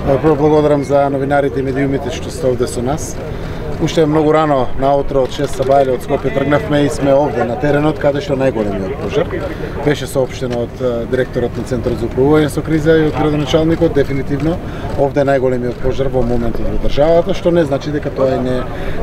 Прво благодарам за новинарите и медиумите што сте овде со нас. Уште многу рано наутро од 6 сабајле од Скопје тргнавме и сме овде на теренот каде што најголемиот пожар. Беше соопштено од директорот на Центарот за управување со криза и од градоначалникот, дефинитивно овде е најголемиот пожар во моментот во државата, што не значи дека тоа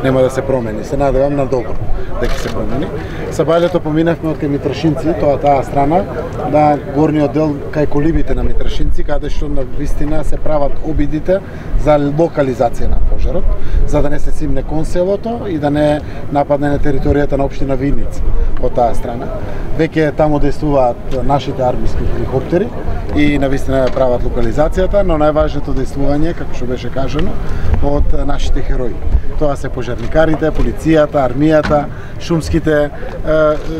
нема да се промени. Се надевам на добро дека се промени. Сабајлето поминавме од кај Митрашинци, таа страна, на горниот дел кај колибите на Митрашинци, каде што на вистина се прават обидите за локализација на пожарот, за да не се симне кон селото и да не нападне на територијата на општина Виница од таа страна. Веќе таму действуваат нашите армиски хеликоптери и навистина прават локализацијата, но најважното действување, како што беше кажано, од нашите херои. Тоа се пожарникарите, полицијата, армијата,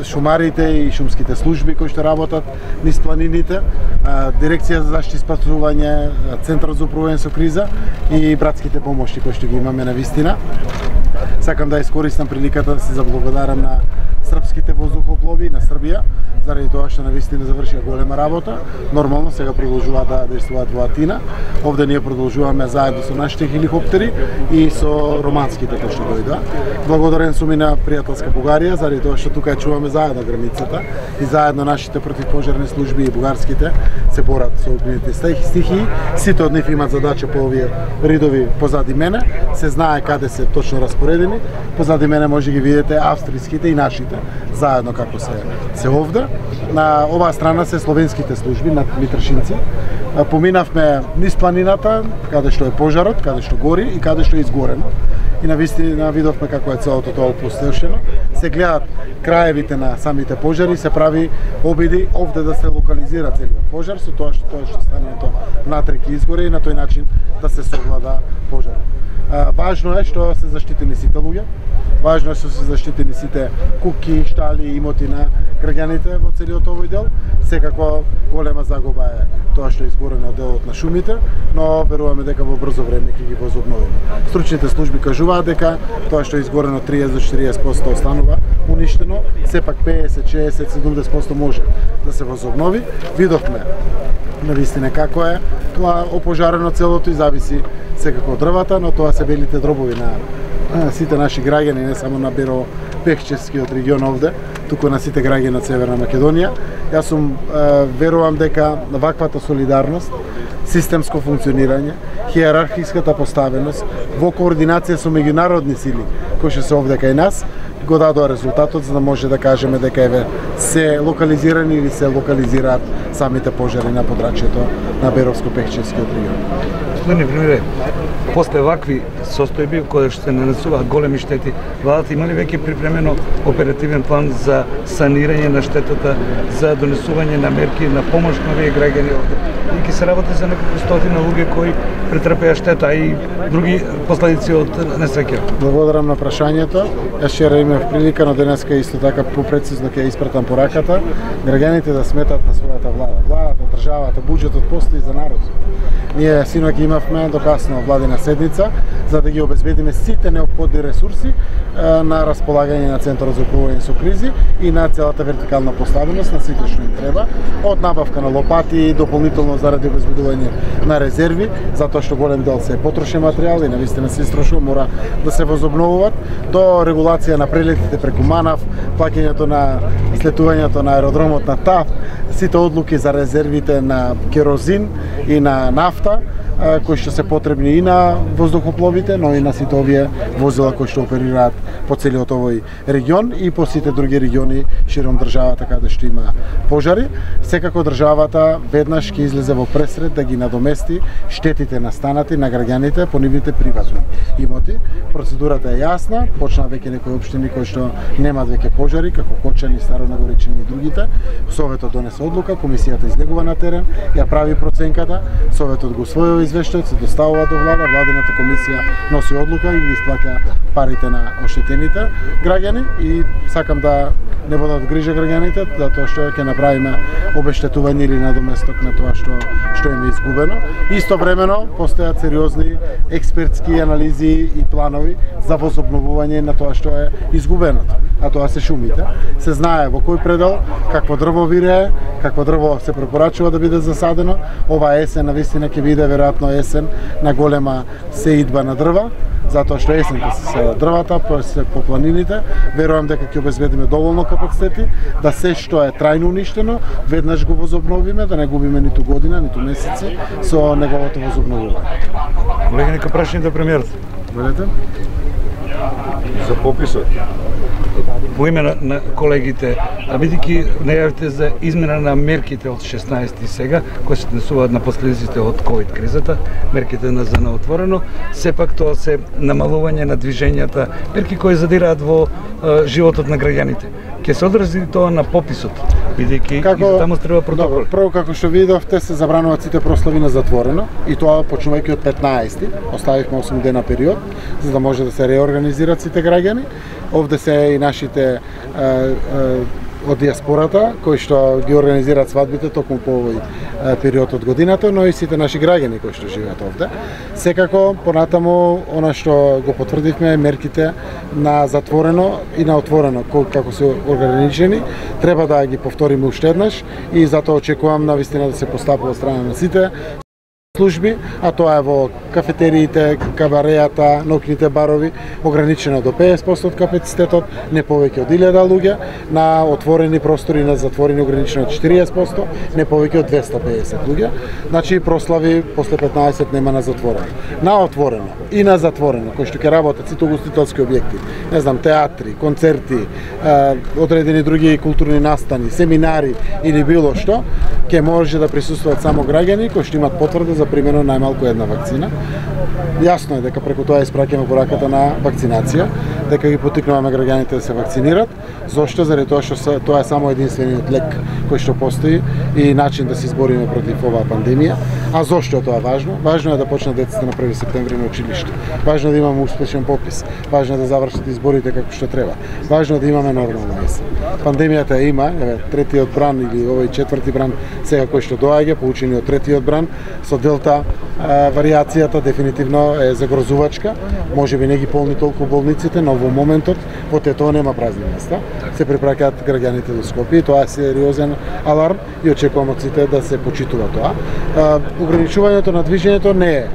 шумарите и шумските служби кои што работат низ планините, Дирекција за заштита и спасување, Центарот за управување со криза и братските помошти кои што ги имаме на вистина. Сакам да искористам приликата да се заблагодарам на српските воздухоплови на Србија, заради тоа што навистина завршија голема работа. Нормално сега продолжуваат да действуваат во Атина. Овде ние продолжуваме заедно со нашите хеликоптери и со романските кои што дојдоа. Благодарен сум и на пријателска Бугарија, заради тоа што тука ја чуваме заедно границата и заедно нашите противпожарни служби и бугарските се борат со огнените стихии. Сите од нив имаат задача по овие ридови позади мене. Се знае каде се точно распоредени. Позади мене може ги видите австријските и нашите заедно како се овде. На оваа страна се словенските служби на Митрашинци. Поминавме низ планината, каде што е пожарот, каде што гори и каде што е изгорено. И навистина видовме како е целото тоа опустошено. Се гледат краевите на самите пожари, се прави обиди овде да се локализира целиот пожар, со тоа што станато внатре ќе изгоре и на тој начин да се совлада пожарот. Важно е што се заштитени сите луѓе, важно е што се заштитени сите куќи, штали и имоти на граѓаните во целиот овој дел. Секако голема загуба е тоа што е изгорено делот на шумите, но веруваме дека во брзо време ќе ги возобновиме. Стручните служби кажуваат дека тоа што е изгорено 30 до 40% останува уништено, сепак 50, 60, 70% може да се возобнови. Видовме навистина како е тоа опожарено целото и зависи секако од дрвата, но тоа се белите дробови на сите наши граѓани, не само на Беро-Пехчевскиот регион овде, туку на сите граѓани од Северна Македонија. Јас верувам дека ваквата солидарност, системско функционирање, хиерархиската поставеност во координација со меѓународни сили кои што се овде кај нас, го дадоа резултатот за да може да кажеме дека еве се локализирани или се локализираат самите пожари на подрачјето на Беровско-Пехчевскиот регион. Господине премиере, после вакви состојби кои што се нанесуваат големи штети, владата има ли веќе припремено оперативен план за санирање на штетата, за донесување на мерки на помош на овие граѓани овде? И ќе се работи за неколку стотина луѓе кои претрпеа штета и други последици од несреќа. Благодарам на прашањето. Јас вчера имав прилика, но денеска исто така попрецизно ќе испратам пораката граѓаните да сметат на својата влада. Владата, државата, буџетот постои за народот. Ние синоќ имавме до касно владина седница за да ги обезбедиме сите неопходни ресурси на располагање на Центарот за управување со кризи и на целата вертикална поставеност на сите што им треба, од набавка на лопати, дополнително заради обезбедување на резерви, затоа што голем дел се потрошен материјал и навистина се истрошува, мора да се возобновуваат, до регулација на прелетите преку Манав, плаќањето на слетувањето на аеродромот на ТАФ, сите одлуки за резервите на керозин и на нафта, кои што се потребни и на воздухопловите, но и на сите овие возила кои што оперираат по целиот овој регион и по сите други региони широм државата каде што има пожари. Секако државата веднаш ќе излезе во пресред да ги надомести штетите настанати на граѓаните по нивните приватни имоти. Процедурата е јасна, почна веќе некои општини кои што немаат веќе пожари, како Кочани, Старонагоричани и другите. Советот донесе одлука, комисијата излегува на терен, ја прави проценката, советот го усвојува извештајот, се доставува до влада, владината комисија носи одлука и ги исплаќа парите на оштетените граѓани и сакам да не водат грижа граѓаните, затоа што ќе направиме обештетување или надоместок на тоа што им е изгубено. Истовремено постојат сериозни експертски анализи и планови за возобновување на тоа што е изгубеното, а тоа се шумите. Се знае во во кој предел, какво дрво вирее, какво дрво се препорачува да биде засадено. Ова есен навистина ќе биде веројатно есен на голема сеидба на дрва, затоа што есента се дрвата, се по планините. Верувам дека ќе обезбедиме доволно капацитети да се што е трајно уништено, веднаш го возобновиме, да не губиме ниту година, ниту месеци со неговото возобновување. Колеги, нека прашање да премиерот. Велете? За пописот. По име на колегите, бидејќи најавите за измена на мерките од 16 сега, кои се однесуваат на последиците од ковид кризата, мерките за на отворено, сепак тоа се намалување на движењата, мерки кои задираат во животот на граѓаните. Ќе се одрази тоа на пописот, бидејќи и таму треба протоколи. Прво, како што видовте, се забрануваат сите прослави на затворено, и тоа почнувајќи од 15-ти, оставивме 8 дена период, за да може да се реорганизираат сите граѓани. Овде се и нашите од диаспората, кои што ги организираат свадбите токму по овој период од годината, но и сите наши граѓани кои што живеат овде. Секако, понатаму, она што го потврдивме, мерките на затворено и на отворено, како се ограничени, треба да ги повториме уште еднаш и затоа очекувам навистина да се постапува од страна на сите служби, а тоа е во кафетериите, кабареата, ноќните барови, ограничено до 50% од капацитетот, не повеќе од 1000 луѓе, на отворени простори, на затворени ограничено од 40%, не повеќе од 250 луѓе. Значи прослави после 15 нема на затворено. На отворено и на затворено, кои што ќе работат сите угостителски објекти, не знам, театри, концерти, одредени други културни настани, семинари или било што, ќе може да присуствуваат само граѓани кои што имаат потврда за примено најмалку една вакцина. Јасно е дека преку тоа испраќаме пораката на вакцинација, дека ги поттикнуваме граѓаните да се вакцинират. Зошто? Заради тоа што тоа е само единствениот лек кој што постои и начин да се избориме против оваа пандемија. А зошто е тоа важно? Важно е да почнат децата на 1 септември на училиште. Важно е да имаме успешен попис. Важно е да завршат изборите како што треба. Важно е да имаме нормална есен. Пандемијата има, третиот бран или овој четврти бран сега кој што доаѓа, поучени од третиот бран, со делта варијацијата дефинитивно е загрозувачка. Може би не ги полни толку болниците, но во моментот во Тетово нема празни места. Се препраќаат граѓаните до Скопје. Тоа е сериозен аларм и очекувам од сите да се почитува тоа. Ограничувањето на движењето не е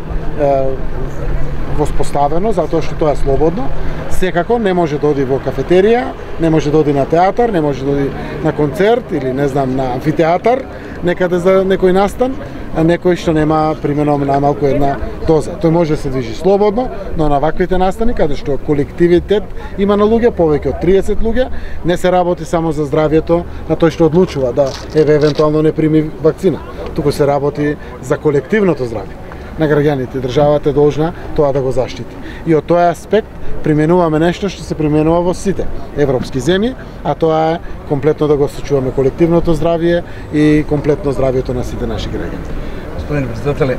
воспоставено, затоа што тоа е слободно. Секако не може да оди во кафетерија, не може да оди на театар, не може да оди на концерт или не знам на амфитеатар, некаде за некој настан, а некој што нема примерно најмалку една доза. Тој може да се движи слободно, но на ваквите настани каде што колективитет има на луѓе, повеќе од 30 луѓе, не се работи само за здравјето на тој што одлучува да евентуално не прими вакцина. Туку се работи за колективното здравје на граѓаните. Државата е должна тоа да го заштити. И од тој аспект применуваме нешто што се применува во сите европски земји, а тоа е комплетно да го сочуваме колективното здравје и комплетно здравјето на сите наши граѓани. Господин председателе,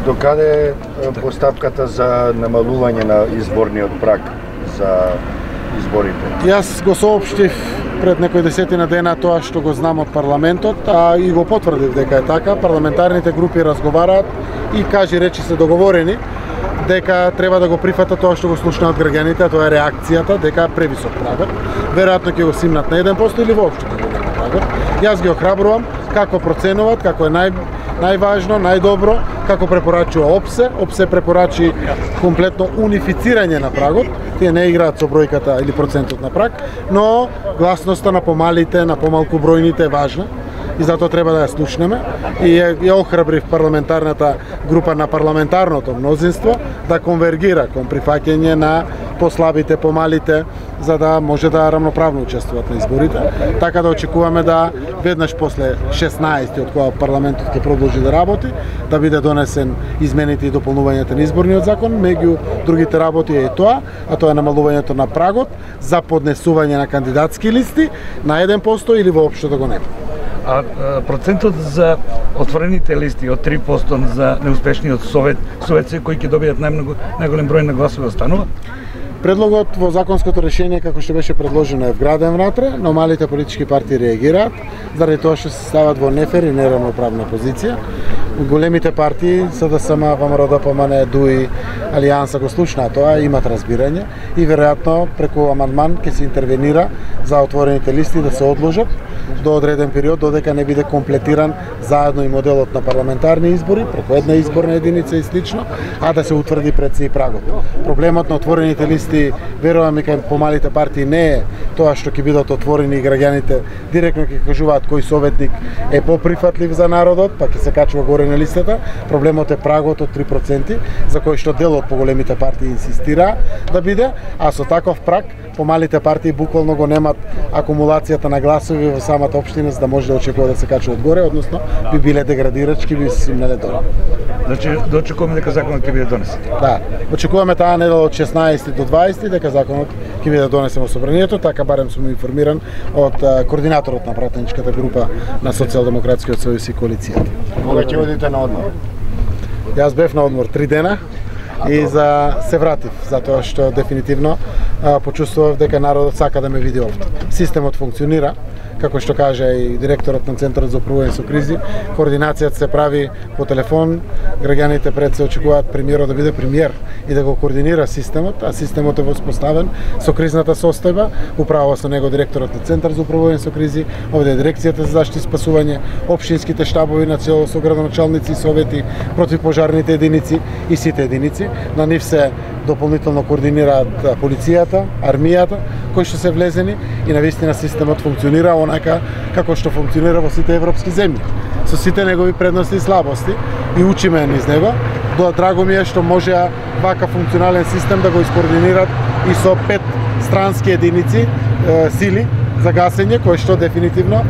докаде постапката за намалување на изборниот праг за изборите? Јас го соопштив пред некои десетина дена тоа што го знам од парламентот, а и го потврдив дека е така. Парламентарните групи разговараат и кажи речи се договорени дека треба да го прифатат тоа што го слушнаат граѓаните, а тоа е реакцијата дека е превисок прагот. Веројатно ќе го симнат на 1% или воопшто ќе го нема прагот. Јас ги охрабрувам како проценуваат, како е најважно, најдобро, како препорачува ОПСЕ. ОПСЕ препорачи комплетно унифицирање на прагот. Тие не играат со бројката или процентот на праг, но гласноста на помалите, на помалку бројните е важна и затоа треба да ја слушнеме. И ја охрабрив парламентарната група на парламентарното мнозинство да конвергира кон прифаќање на послабите, помалите, за да може да рамноправно учествуваат на изборите. Така да очекуваме да веднаш после 16 од кога парламентот ќе продолжи да работи, да биде донесен измените и дополнувањата на изборниот закон. Меѓу другите работи е тоа, а тоа е намалувањето на прагот за поднесување на кандидатски листи на 1% или воопшто да го нема. А процентот за отворените листи од 3% за неуспешниот Советски кои ќе добијат најголем број на гласови останува? Предлогот во законското решение како што беше предложено е вграден внатре, но малите политички партии реагираат заради тоа што се стават во нефер и неравноправна позиција. големите партии, СДСМ, ВМРО, ДПМН, ДУИ, Алијанса го слушнаа тоа, имат разбирање и веројатно преку амандман ќе се интервенира за отворените листи да се одложат до одреден период, додека не биде комплетиран заедно и моделот на парламентарни избори, преку една изборна единица и слично, а да се утврди пред се и прагот. Проблемот на отворените листи, верувам и кај помалите партии, не е тоа што ќе бидат отворени и граѓаните директно ќе кажуваат кој советник е поприфатлив за народот, па ќе се качува горе на листата. Проблемот е прагот од 3%, за кој што дел од поголемите партии инсистира да биде, а со таков праг помалите партии буквално го немат акумулацијата на гласови во самата општина за да може да очекува да се качува одгоре, односно би биле деградирачки, би се симнале долу. Значи, да очекуваме дека законот ќе биде донесен. Да, очекуваме таа недела од 16 до 20 дека законот ќе биде донесен во собранието, така барем сум информиран од координаторот на пратеничката група на Социјалдемократскиот сојуз и коалицијата. Кога ќе одите на одмор? Јас бев на одмор 3 дена и се вратив, затоа што дефинитивно почувствував дека народот сака да ме види овде. Системот функционира, како што кажа и директорот на Центарот за управување со кризи, координацијата се прави по телефон, граѓаните пред се очекуваат премиерот да биде премиер и да го координира системот, а системот е воспоставен со кризната состојба, управува со него директорот на Центар за управување со кризи, овде е дирекцијата за заштита и спасување, општинските штабови на село со градоначалници и совети, противпожарните единици и сите единици. На нив се дополнително координираат полицијата, армијата, кои што се влезени и навистина системот функционира онака како што функционира во сите европски земји, со сите негови предности и слабости и учиме низ него. Драго ми е што можеа вака функционален систем да го искоординират и со 5 странски единици, сили за гасење, кои што дефинитивно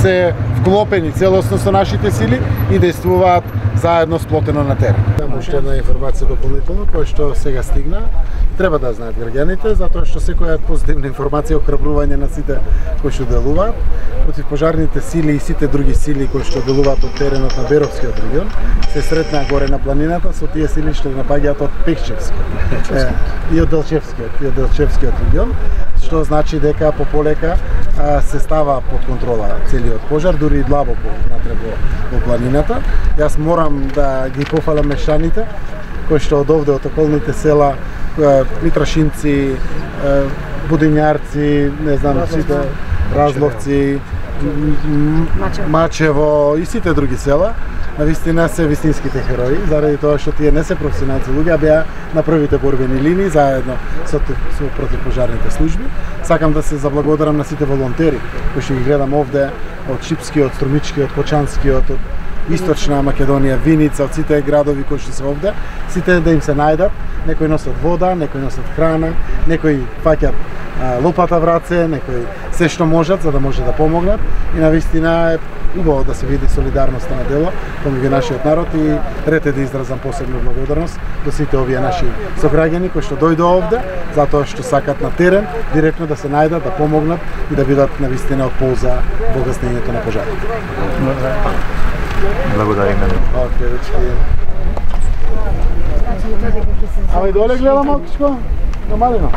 се вклопени целосно со нашите сили и действуваат заедно сплотено на терен. Уште една информација дополнително, која што сега стигна, треба да знаат граѓаните, затоа што секоја позитивна информација охрабрување на сите кои што делуваат, противпожарните сили и сите други сили кои што делуваат од теренот на Беровскиот регион, се сретнаа горе на планината со тие сили што напаѓаат од Пехчевскиот и од Делчевскиот регион, што значи дека пополека се става под контрола целиот пожар, дури и длабоко внатре во планината. Јас морам да ги пофалам мештаните кои што од овде од околните села, Митрашинци, Будињарци, не знам, сите Разловци, Мачево и сите други села, навистина се вистинските херои, заради тоа што тие не се професионалци луѓе, а беа на првите борбени линии заедно со противпожарните служби. Сакам да се заблагодарам на сите волонтери кои што ги гледам овде од Шипскиот, Струмичкиот, Кочанскиот, од Источна Македонија, Виница, од сите градови кои што се овде, сите да им се најдат, некои носат вода, некои носат храна, некои фаќат лопата в раце, некои се што можат за да може да помогнат и навистина е убаво да се види солидарноста на дело помеѓу нашиот народ и ред е да изразам посебна благодарност до сите овие наши сограѓани кои што дојдоа овде затоа што сакат на терен директно да се најдат, да помогнат и да бидат навистина од полза во гаснењето на пожарите. Благодариме. Океј, дечки. Ама и доле гледам малку, на малино.